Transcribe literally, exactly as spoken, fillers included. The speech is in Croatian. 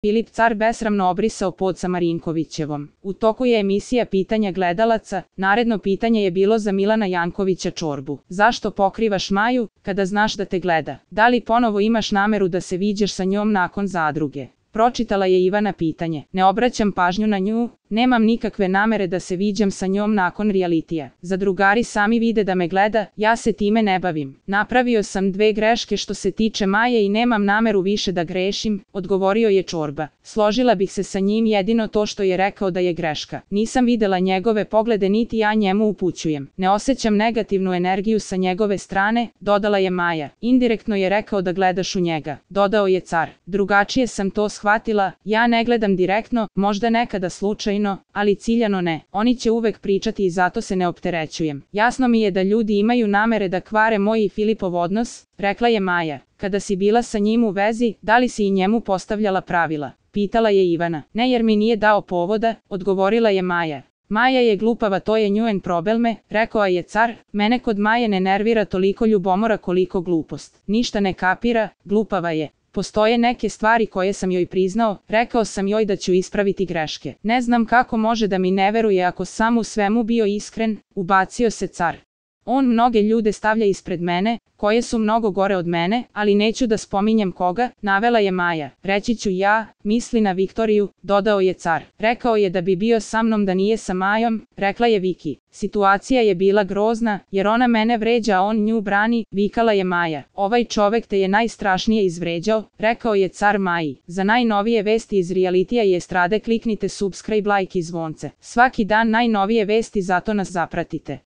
Filip Car besramno obrisao pod sa Marinkovićevom. U toku je emisija pitanja gledalaca, naredno pitanje je bilo za Milana Jankovića Čorbu. Zašto pokrivaš Maju, kada znaš da te gleda? Da li ponovo imaš nameru da se viđaš sa njom nakon zadruge? Pročitala je Ivana pitanje. Ne obraćam pažnju na nju, nemam nikakve namere da se viđam sa njom nakon realitija. Zadrugari sami vide da me gleda, ja se time ne bavim. Napravio sam dve greške što se tiče Maje i nemam nameru više da grešim, odgovorio je Čorba. Složila bih se sa njim jedino to što je rekao da je greška. Nisam videla njegove poglede niti ja njemu upućujem. Ne osjećam negativnu energiju sa njegove strane, dodala je Maja. Indirektno je rekao da gledaš u njega, dodao je Car. Drugačije sam to shvatila, ja ne gledam direktno, možda nekada slučajno, ali ciljano ne. Oni će uvek pričati i zato se ne opterećujem. Jasno mi je da ljudi imaju namere da kvare moj i Filipov odnos, rekla je Maja. Kada si bila sa njim u vezi, da li si i njemu postavljala pravila? Pitala je Ivana. Ne, jer mi nije dao povoda, odgovorila je Maja. Maja je glupava, to je njen problem, rekao je Car. Mene kod Maje ne nervira toliko ljubomora koliko glupost. Ništa ne kapira, glupava je. Postoje neke stvari koje sam joj priznao, rekao sam joj da ću ispraviti greške. Ne znam kako može da mi ne veruje ako sam u svemu bio iskren, ubacio se Car. On mnoge ljude stavlja ispred mene, koje su mnogo gore od mene, ali neću da spominjem koga, navela je Maja. Reći ću ja, misli na Viktoriju, dodao je Car. Rekao je da bi bio sa mnom da nije sa Majom, rekla je Viki. Situacija je bila grozna, jer ona mene vređa a on nju brani, vikala je Maja. Ovaj čovek te je najstrašnije izvređao, rekao je Car Maji. Za najnovije vesti iz realitija i estrade kliknite subscribe, like i zvonce. Svaki dan najnovije vesti, zato nas zapratite.